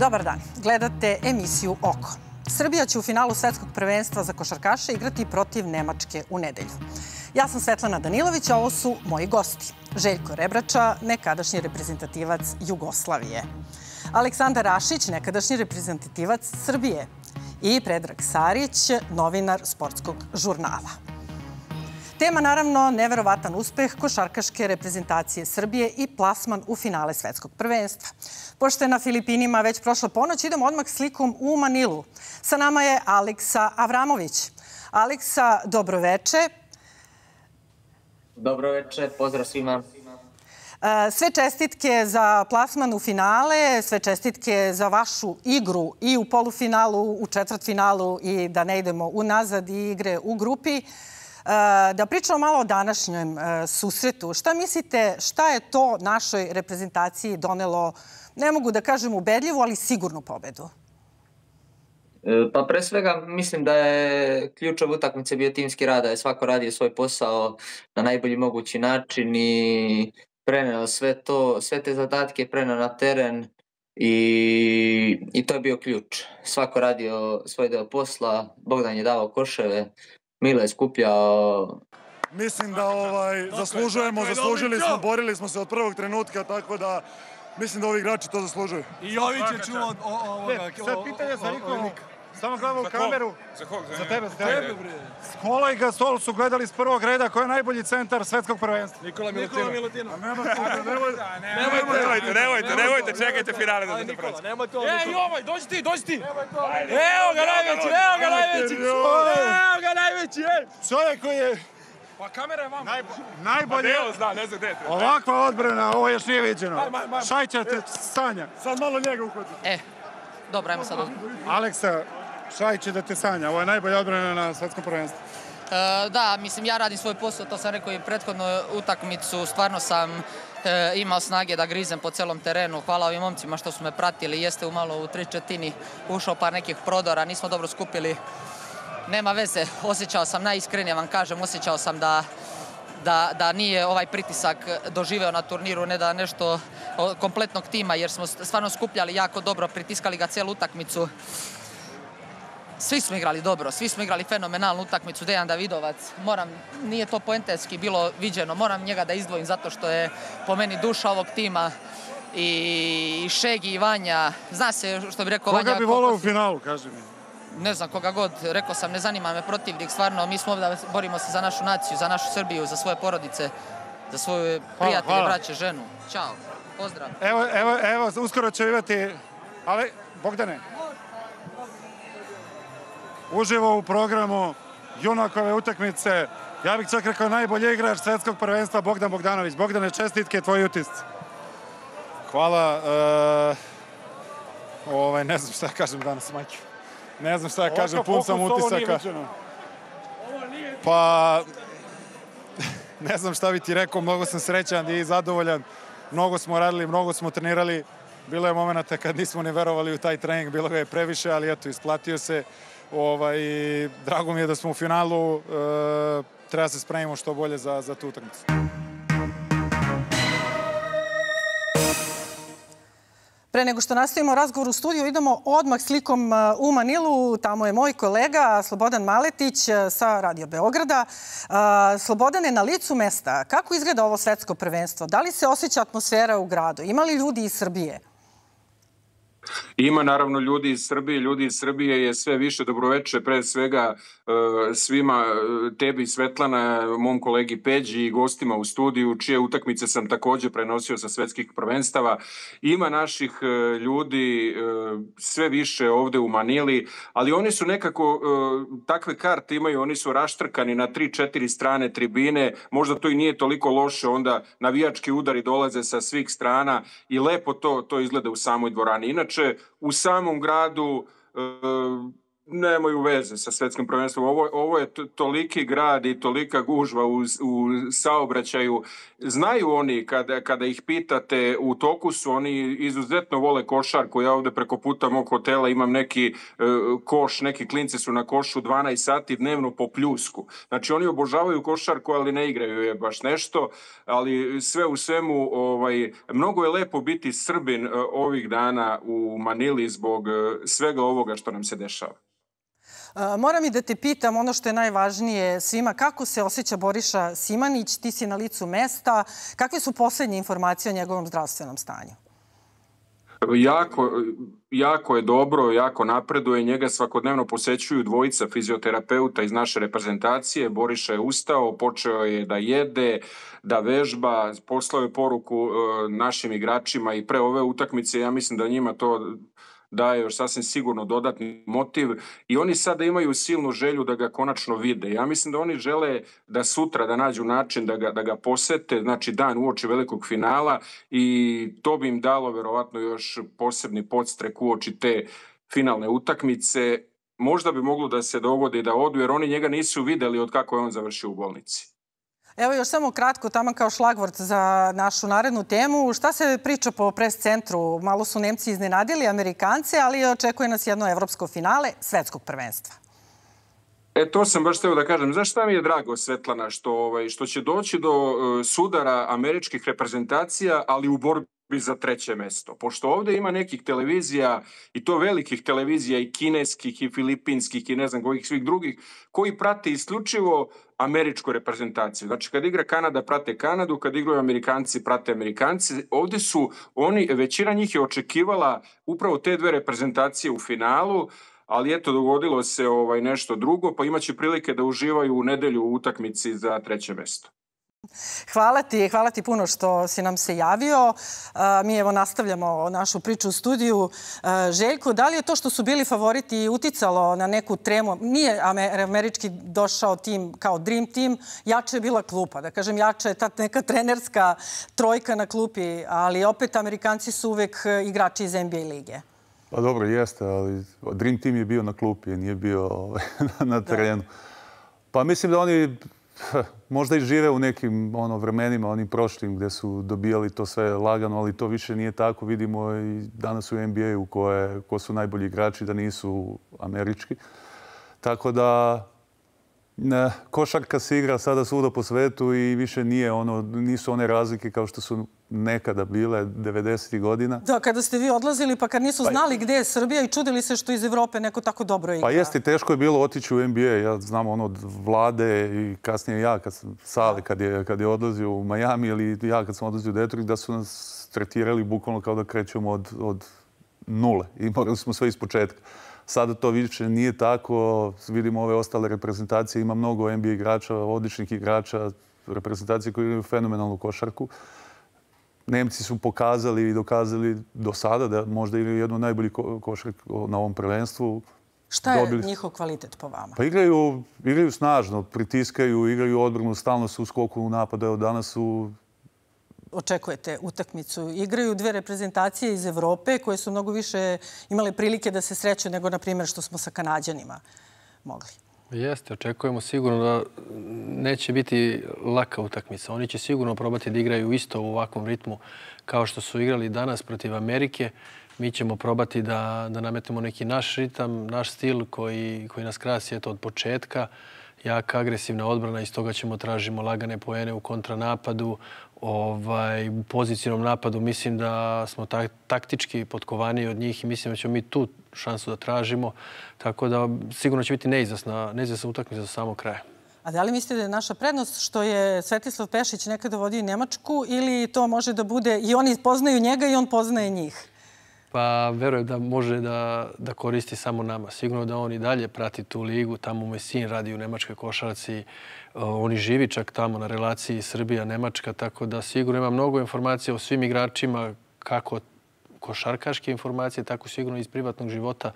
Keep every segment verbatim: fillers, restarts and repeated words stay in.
Dobar dan, gledate emisiju Oko. Srbija će u finalu svetskog prvenstva za košarkaše igrati protiv Nemačke u nedelju. Ja sam Svetlana Danilović, a ovo su moji gosti. Željko Rebrača, nekadašnji reprezentativac Jugoslavije. Aleksandar Rašić, nekadašnji reprezentativac Srbije. I Predrag Sarić, novinar sportskog žurnala. Tema, naravno, neverovatan uspeh košarkaške reprezentacije Srbije i plasman u finale svetskog prvenstva. Pošto je na Filipinima već prošla ponoć, idemo odmah slikom u Manilu. Sa nama je Aleksa Avramović. Aleksa, dobroveče. Dobroveče, pozdrav svima. Sve čestitke za plasman u finale, sve čestitke za vašu igru i u polufinalu, u četvrtfinalu i da ne idemo unazad i igre u grupi. Da pričamo malo o današnjem susretu. Šta mislite, šta je to našoj reprezentaciji donelo, ne mogu da kažem ubedljivu, ali sigurnu pobedu? Pa pre svega mislim da je ključna utakmica bio timski rad, da je svako radio svoj posao na najbolji mogući način i preneo sve to, sve te zadatke preneo na teren i, i to je bio ključ. Svako radio svoj deo posla, Bogdan je davao koševe, Milo je skupljao. Mislim da ovaj, zaslužujemo, zaslužili smo, borili smo se od prvog trenutka, tako da mislim da ovi igrači to zaslužuju. I Jović je čuo od ovoga. Sad pitanje za Nikolu, samo gledamo u kameru. Za kog? Za tebe, za tebe. Skola i Gasol su gledali iz prvog reda ko je najbolji centar svetskog prvenstva. Nikola Milutinov. Nemojte, Nemojte, nemojte, čekajte finale da se proći. Ej, Jovaj, dođi ti, dođi ti. Evo ga najveći, evo ga najveći. Evo ga najveći, ej. Čovjek koji je Pa kamera je vama. najbolji. Evo zna, ne znam gde je. Ovakva odbrana, ovo još nije viđeno. Šajća te sanja. Sad malo njega uhvati. E, dobro, ajmo sad. Aleksa, Šaj će da te sanja. Ovo je najbolja odbrana na svetskom prvenstvu. E, da, mislim, ja radim svoj posao, to sam rekao i prethodnu utakmicu. Stvarno sam e, imao snage da grizem po celom terenu. Hvala ovim momcima što su me pratili. Jeste umalo u tri četini ušao par nekih prodora, nismo dobro skupili. Nema veze, osjećao sam, najiskrenije vam kažem, osjećao sam da, da, da nije ovaj pritisak doživeo na turniru, ne da nešto kompletnog tima, jer smo stvarno skupljali jako dobro, pritiskali ga celu utakmicu. Svi smo igrali dobro, svi smo igrali fenomenalnu utakmicu. Dejan Davidovac, moram, nije to poentetski bilo viđeno, moram njega da izdvojim zato što je po meni duša ovog tima. I Šegi i Vanja, zna se što bi rekao Vanja. Koga bi volao u finalu, kaži mi? Ne znam, koga god, rekao sam, ne zanima me protivnik, stvarno, mi smo ovdje, borimo se za našu naciju, za našu Srbiju, za svoje porodice, za svoje prijatelje, braće, ženu. Ćao, pozdrav. Evo, evo, evo, uskoro će imati, ali, Bogdane, uživo u programu junakove utakmice, ja bih čak rekao najbolji igrač svetskog prvenstva, Bogdan Bogdanović. Bogdane, čestitke, tvoji utisci. Hvala, uh, ovaj, ne znam šta kažem danas, majke. Ne znam šta ja kažem, pun sam utisaka. Pa, ne znam šta bi ti rekao, mnogo sam srećan i zadovoljan. Mnogo smo radili, mnogo smo trenirali. Bilo je momenta kad nismo ni verovali u taj trening, bilo ga je previše, ali eto, isplatio se. Ovaj, drago mi je da smo u finalu, e, treba se spremimo što bolje za, za tu utakmicu. Pre nego što nastavimo razgovor u studiju, idemo odmah slikom u Manilu. Tamo je moj kolega Slobodan Maletić sa Radio Beograda. Slobodan je na licu mesta. Kako izgleda ovo svetsko prvenstvo? Da li se osjeća atmosfera u gradu? Ima li ljudi iz Srbije? Ima naravno ljudi iz Srbije. Ljudi iz Srbije je sve više. Dobroveče pre svega svima, tebi Svetlana, mom kolegi Peđi i gostima u studiju, čije utakmice sam također prenosio sa svetskih prvenstava. Ima naših ljudi sve više ovde u Manili, ali oni su nekako, takve karte imaju, oni su raštrkani na tri četiri strane tribine. Možda to i nije toliko loše, onda navijački udari dolaze sa svih strana i lepo to, to izgleda u samoj dvorani. Inače, u samom gradu nemaju veze sa svetskim prvenstvom. Ovo, ovo je toliki grad i tolika gužva u, u saobraćaju. Znaju oni, kada, kada ih pitate, u toku su, oni izuzetno vole košarku. Ja ovde preko puta mog hotela imam neki uh, koš, neki klinci su na košu dvanaest sati dnevno po pljusku. Znači oni obožavaju košarku, ali ne igraju je baš nešto. Ali sve u svemu, ovaj, mnogo je lepo biti Srbin uh, ovih dana u Manili zbog uh, svega ovoga što nam se dešava. Moram i da te pitam ono što je najvažnije svima, kako se osjeća Boriša Simanić, ti si na licu mesta, kakve su poslednje informacije o njegovom zdravstvenom stanju? Jako, jako je dobro, jako napreduje, njega svakodnevno posećuju dvojica fizioterapeuta iz naše reprezentacije. Boriša je ustao, počeo je da jede, da vežba, poslao je poruku našim igračima i pre ove utakmice, ja mislim da njima to daje još sasvim sigurno dodatni motiv i oni sada imaju silnu želju da ga konačno vide. Ja mislim da oni žele da sutra da nađu način da ga, da ga posete, znači dan uoči velikog finala i to bi im dalo verovatno još posebni podstrek uoči te finalne utakmice. Možda bi moglo da se dogodi da odu jer oni njega nisu videli od kako je on završio u bolnici. Evo još samo kratko, tamo kao šlagvort za našu narednu temu. Šta se priča po pres centru? Malo su Nemci iznenadili Amerikance, ali očekuje nas jedno evropsko finale svetskog prvenstva. E, to sam baš hteo da kažem. Znaš šta mi je drago, Svetlana, što, ovaj, što će doći do uh, sudara američkih reprezentacija, ali u borbi za treće mesto. Pošto ovde ima nekih televizija, i to velikih televizija, i kineskih, i filipinskih, i ne znam kojih svih drugih, koji prate isključivo američku reprezentaciju. Znači, kad igra Kanada, prate Kanadu, kad igraju Amerikanci, prate Amerikanci. Ovde su oni, većina njih je očekivala upravo te dve reprezentacije u finalu, ali eto, dogodilo se ovaj nešto drugo, pa imaće prilike da uživaju u nedelju u utakmici za treće mesto. Hvala ti, hvala ti puno što si nam se javio. Mi evo nastavljamo našu priču u studiju. Željko, da li je to što su bili favoriti uticalo na neku tremu? Nije američki došao tim kao dream team, jače je bila klupa. Da kažem, jača je ta neka trenerska trojka na klupi, ali opet Amerikanci su uvek igrači iz N B A lige. Pa dobro, jeste, ali dream team je bio na klupi, nije bio na terenu. Pa mislim da oni možda i žive u nekim ono, vremenima, onim prošlim gde su dobijali to sve lagano, ali to više nije tako. Vidimo i danas u N B A-u koje, ko su najbolji igrači da nisu američki. Tako da ne, košarka se igra sada svuda po svetu i više nije ono, nisu one razlike kao što su nekada bile devedesetih godina. Da, kada ste vi odlazili pa kad nisu znali gde je Srbija i čudili se što iz Evrope neko tako dobro igra. Pa jeste, teško je bilo otići u N B A. Ja znam ono od Vlade i kasnije ja, kad sam Sale, kad je, kad je odlazio u Miami ili ja kad sam odlazio u Detroit, da su nas tretirali bukvalno kao da krećemo od, od nule i morali smo sve ispočetka. Sada to više nije tako. Vidimo ove ostale reprezentacije. Ima mnogo N B A igrača, odličnih igrača, reprezentacije koji igraju fenomenalnu košarku. Nemci su pokazali i dokazali do sada da možda igraju jednu najbolji košarku na ovom prvenstvu. Šta je Dobili... njihov kvalitet po vama? Pa igraju, igraju snažno, pritiskaju, igraju odbranu, stalno su u skoku u napadu. Evo danas su... Očekujete utakmicu. Igraju dve reprezentacije iz Evrope koje su mnogo više imale prilike da se sreću nego, na primjer, što smo sa Kanađanima mogli. Jeste, očekujemo sigurno da neće biti laka utakmica. Oni će sigurno probati da igraju isto u ovakvom ritmu kao što su igrali danas protiv Amerike. Mi ćemo probati da, da nametnemo neki naš ritam, naš stil koji, koji nas krasi eto, od početka. Jaka agresivna odbrana, iz toga ćemo tražimo lagane poene u kontranapadu. Ovaj, u pozicijnom napadu mislim da smo ta, taktički potkovaniji od njih i mislim da ćemo mi tu šansu da tražimo. Tako da sigurno će biti neizvesna, neizvesna utakmica do samog kraja. A da li mislite da je naša prednost što je Svetislav Pešić nekada vodio Nemačku ili to može da bude i oni poznaju njega i on poznaje njih? Pa verujem da može da, da koristi samo nama. Sigurno da on i dalje prati tu ligu. Tamo moj sin radi u nemačkoj košarci. Oni živi čak tamo na relaciji Srbija-Nemačka. Tako da sigurno ima mnogo informacija o svim igračima, kako košarkaške informacije, tako sigurno iz privatnog života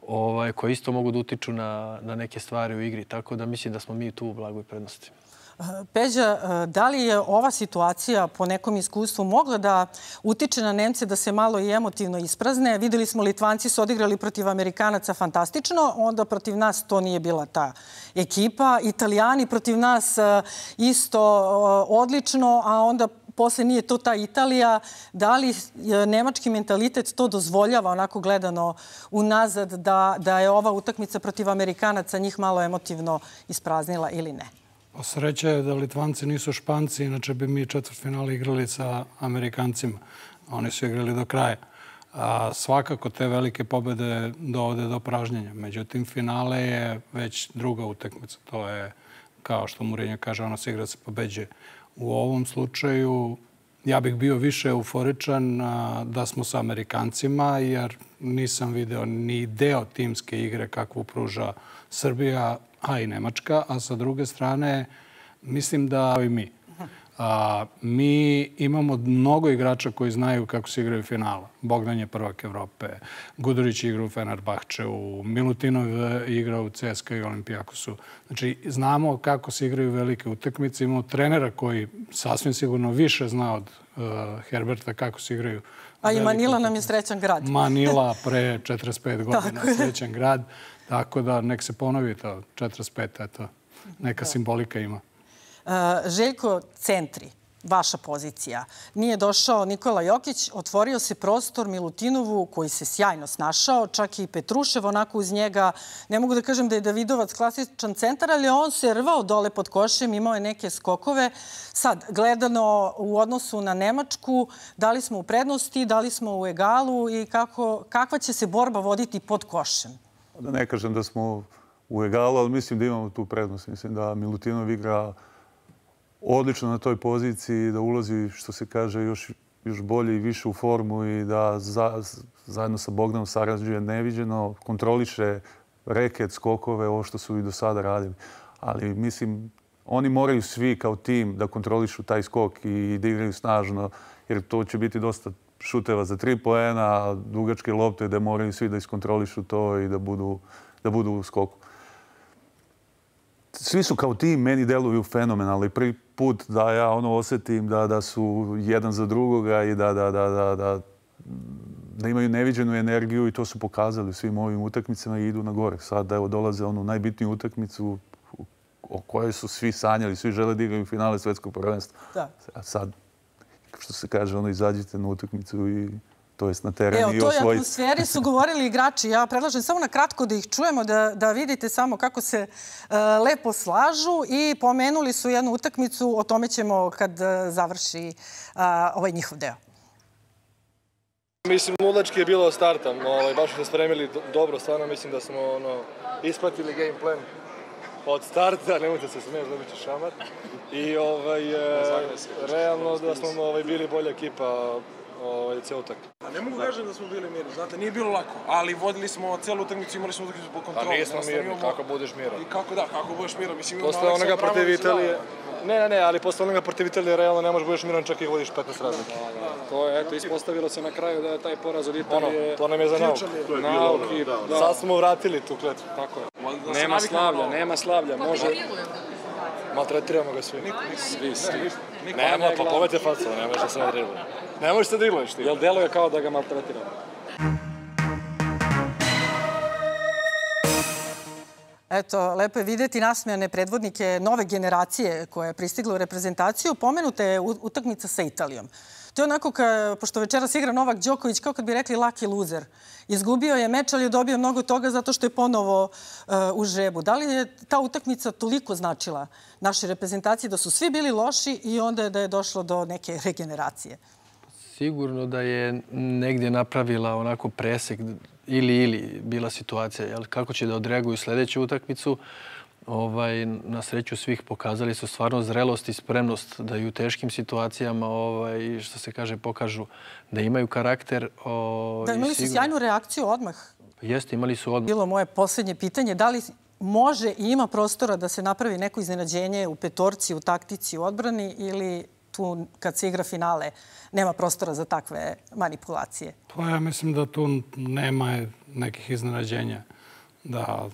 ovaj, koje isto mogu da utiču na, na neke stvari u igri. Tako da mislim da smo mi tu u blagoj prednosti. Peđa, da li je ova situacija po nekom iskustvu mogla da utiče na Nemce da se malo i emotivno isprazne? Videli smo, Litvanci su odigrali protiv Amerikanaca fantastično, onda protiv nas to nije bila ta ekipa. Italijani protiv nas isto odlično, a onda posle nije to ta Italija. Da li nemački mentalitet to dozvoljava, onako gledano unazad, da, da je ova utakmica protiv Amerikanaca njih malo emotivno ispraznila ili ne? Sreća je da Litvanci nisu Španci, inače bi mi četvrtfinale igrali sa Amerikancima. Oni su igrali do kraja. A svakako te velike pobede dovode do pražnjenja. Međutim, finale je već druga utakmica. To je, kao što Mourinho kaže, ono se igra se pobeđuje. U ovom slučaju ja bih bio više euforičan da smo sa Amerikancima, jer nisam video ni deo timske igre kakvu pruža Srbija, a i Nemačka. A sa druge strane, mislim da i mi. A, mi imamo mnogo igrača koji znaju kako se igraju finala. Bogdan je prvak Evrope, Gudurić igra u Fenerbahčeu, Milutinov igra u C S K A i Olimpijakosu. Znači, znamo kako se igraju velike utakmice. Imamo trenera koji sasvim sigurno više zna od uh, Herberta kako se igraju. A i Manila nam je srećan grad. Manila pre četrdeset pet godina srećan grad. Tako da nek se ponovi to četrdeset pet, eto, neka simbolika ima. Željko, centri, vaša pozicija. Nije došao Nikola Jokić, otvorio se prostor Milutinovu koji se sjajno snašao, čak i Petrušev onako uz njega. Ne mogu da kažem da je Davidovac klasičan centar, ali on se rvao dole pod košem, imao je neke skokove. Sad, gledano u odnosu na Nemačku, da li smo u prednosti, da li smo u egalu i kako, kakva će se borba voditi pod košem? Da ne kažem da smo u egalu, ali mislim da imamo tu prednost. Mislim da Milutinov igra odlično na toj poziciji, da ulazi, što se kaže, još, još bolje i više u formu i da za, zajedno sa Bogdanom sarađuje neviđeno, kontroliše reket, skokove, ovo što su i do sada radili. Ali mislim, oni moraju svi kao tim da kontrolišu taj skok i da igraju snažno, jer to će biti dosta šuteva za tri poena, dugačke lopte da moraju svi da iskontrolišu to i da budu, da budu u skoku. Svi su kao tim meni deluju fenomenalno i prvi put da ja ono osjetim da, da su jedan za drugoga i da, da, da, da, da, da imaju neviđenu energiju i to su pokazali u svim ovim utakmicama i idu na gore. Sad evo dolaze onu najbitniju utakmicu o kojoj su svi sanjali, svi žele da igraju u finale svetskog prvenstva. Da. A sad, što se kaže, ono izađite na utakmicu i to jest na terenu i osvojiti. Evo, toj atmosferi su govorili igrači. Ja predlažem samo na kratko da ih čujemo, da, da vidite samo kako se uh, lepo slažu i pomenuli su jednu utakmicu, o tome ćemo kad uh, završi uh, ovaj njihov deo. Mislim, ludački je bilo starta. Ovaj, baš smo spremili do, dobro, stvarno mislim da smo ono, ispratili game plan od starta, nemojte se smijeti, dobit će šamar. I ovaj, e, realno da smo ovaj, bili bolja ekipa ovaj, ceo utak. A ne mogu kažem da smo bili mirni, znate, nije bilo lako, ali vodili smo celu utakmicu, imali smo utakmicu po kontrolu. A nismo mirni, kako budeš miran? I kako da, kako budeš miran? Mislim, imamo posle onoga protiv Italije, ne, ne, ne, ali posle onoga protiv Italije realno ne možeš budeš miran čak i vodiš petnaest razlike. Da, da. To je, eto, ispostavilo se na kraju da je taj poraz od Italije... Ono, to nam je za nauk. Nauk i da. Sad smo vratili tu kletvu. Tako je. Nema slavlja, nema slavlja, može... Maltretiramo ga svi. Svi, svi. Nema, pa povete facu, ne možeš da se ne driluje. Ne možeš da driluješ ti. Jel deluje kao da ga maltretiramo? Eto, lepo je vidjeti nasmejane predvodnike nove generacije koja je pristigla u reprezentaciju. Pomenuta je utakmica sa Italijom. To je onako, ka, pošto večeras igra Novak Đoković, kao kad bi rekli lucky loser. Izgubio je meč, ali je dobio mnogo toga zato što je ponovo uh, u žrebu. Da li je ta utakmica toliko značila našoj reprezentaciji da su svi bili loši i onda je da je došlo do neke regeneracije? Sigurno da je negdje napravila onako presek ili ili bila situacija. Jel? Kako će da odreaguju sljedeću utakmicu? Ovaj, na sreću svih pokazali su stvarno zrelost i spremnost da i u teškim situacijama, ovaj, što se kaže, pokažu da imaju karakter. O, da, imali su sjajnu reakciju odmah. Jeste, imali su odmah. Bilo moje posljednje pitanje, da li može i ima prostora da se napravi neko iznenađenje u petorci, u taktici, u odbrani ili tu kad se igra finale nema prostora za takve manipulacije? Pa ja mislim da tu nema nekih iznenađenja. Da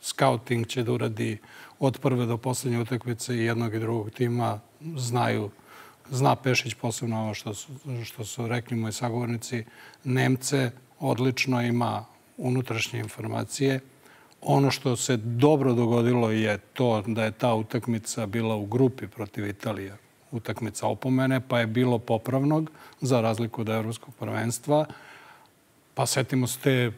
scouting će da uradi od prve do poslednje utakmice i jednog i drugog tima znaju. Zna Pešić posebno ovo što su, što su rekli moji sagovornici. Nemce odlično ima unutrašnje informacije. Ono što se dobro dogodilo je to da je ta utakmica bila u grupi protiv Italije. Utakmica opomene, pa je bilo popravnog za razliku od evropskog prvenstva. Pa setimo se te,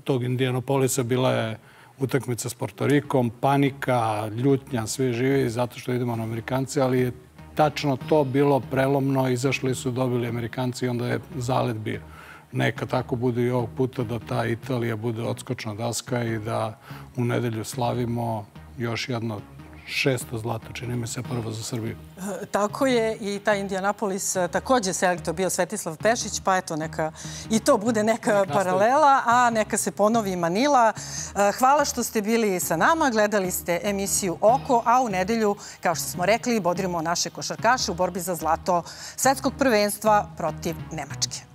tog Indianapolisa, bila je utakmica s Portorikom, panika, ljutnja, svi živi zato što idemo na Amerikanci, ali je tačno to bilo prelomno, izašli su, dobili Amerikanci i onda je zalet bio. Neka tako bude i ovog puta da ta Italija bude odskočna daska i da u nedelju slavimo još jedno šesto zlato, čini mi se prvo za Srbiju. Tako je i taj Indianapolis takođe selektor bio Svetislav Pešić, pa eto neka i to bude neka paralela, a neka se ponovi Manila. Hvala što ste bili sa nama, gledali ste emisiju Oko, a u nedelju, kao što smo rekli, bodrimo naše košarkaše u borbi za zlato svetskog prvenstva protiv Nemačke.